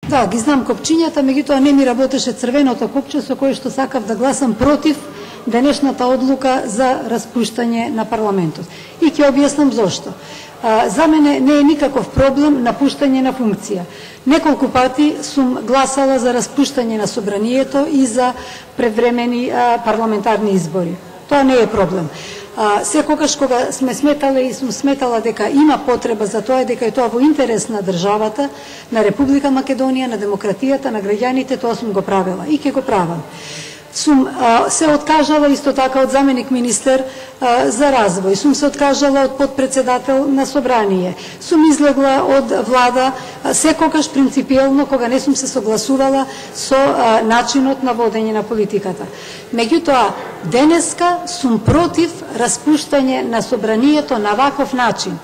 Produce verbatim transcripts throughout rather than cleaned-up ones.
Да, ги знам копчињата, меѓутоа не ми работеше црвеното копче со кое што сакав да гласам против денешната одлука за распуштање на парламентот. И ќе објаснам зошто. А, за мене не е никаков проблем напуштање на функција. Неколку пати сум гласала за распуштање на собранието и за превремени а, парламентарни избори. Тоа не е проблем. А, секогаш кога сме сметале и сум сметала дека има потреба за тоа, дека е тоа во интерес на државата, на Република Македонија, на демократијата, на граѓаните, тоа сум го правила и ќе го правам. Сум а, се откажала исто така од заменик министер а, за развој, сум се откажала од подпредседател на собрание, сум излегла од влада а, секогаш принципиелно кога не сум се согласувала со а, начинот на водење на политиката. Меѓутоа, денеска сум против распуштање на собранието на ваков начин.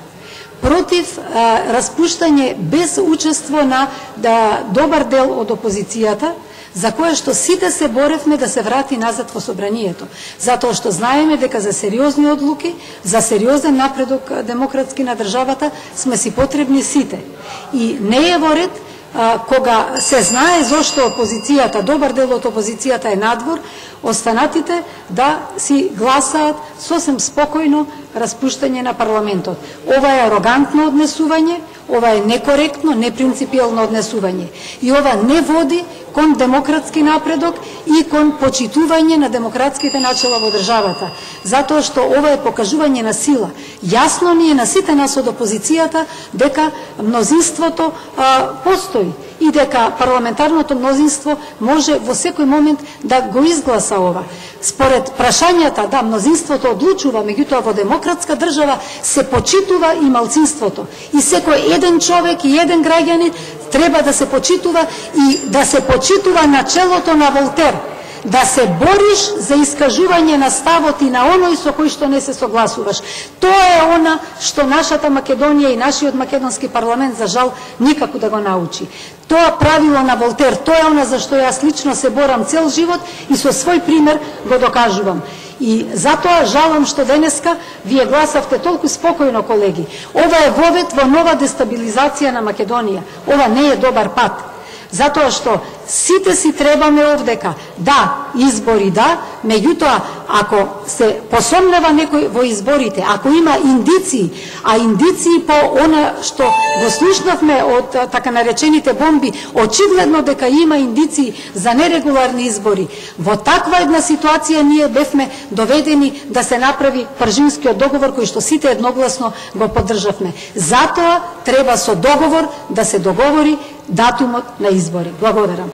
Против а, распуштање без учество на да, добар дел од опозицијата, за кое што сите се боревме да се врати назад во собранието. Затоа што знаеме дека за сериозни одлуки, за сериозен напредок демократски на државата сме си потребни сите. И не е во ред а, кога се знае зошто опозицијата, добар дел од опозицијата е надвор, останатите да си гласаат сосем спокојно распуштање на парламентот. Ова е арогантно однесување, ова е некоректно, непринципиелно однесување. И ова не води кон демократски напредок и кон почитување на демократските начела во државата. Затоа што ова е покажување на сила. Јасно ни е на сите нас од опозицијата дека мнозинството а, постои и дека парламентарното мнозинство може во секој момент да го изгласа ова. Според прашањата, да, мнозинството одлучува, меѓутоа во демократска држава се почитува и малцинството. И секој еден човек и еден граѓанин треба да се почитува и да се почитува начелото на Волтер. Да се бориш за искажување на ставот и на оној со кој што не се согласуваш. Тоа е она што нашата Македонија и нашиот македонски парламент за жал никако да го научи. Тоа правило на Волтер, тоа е она за што јас лично се борам цел живот и со свој пример го докажувам. И затоа жалам што денеска вие гласавте толку спокојно, колеги. Ова е вовед во нова дестабилизација на Македонија. Ова не е добар пат. Затоа што сите си требаме овдека. Да, избори да, меѓутоа, ако се посомнева некој во изборите, ако има индиции, а индиции по она што го слушнавме од така наречените бомби, очигледно дека има индиции за нерегуларни избори, во таква една ситуација ние бевме доведени да се направи Пржинскиот договор кој што сите едногласно го поддржавме. Затоа треба со договор да се договори датумот на избори. Благодарам.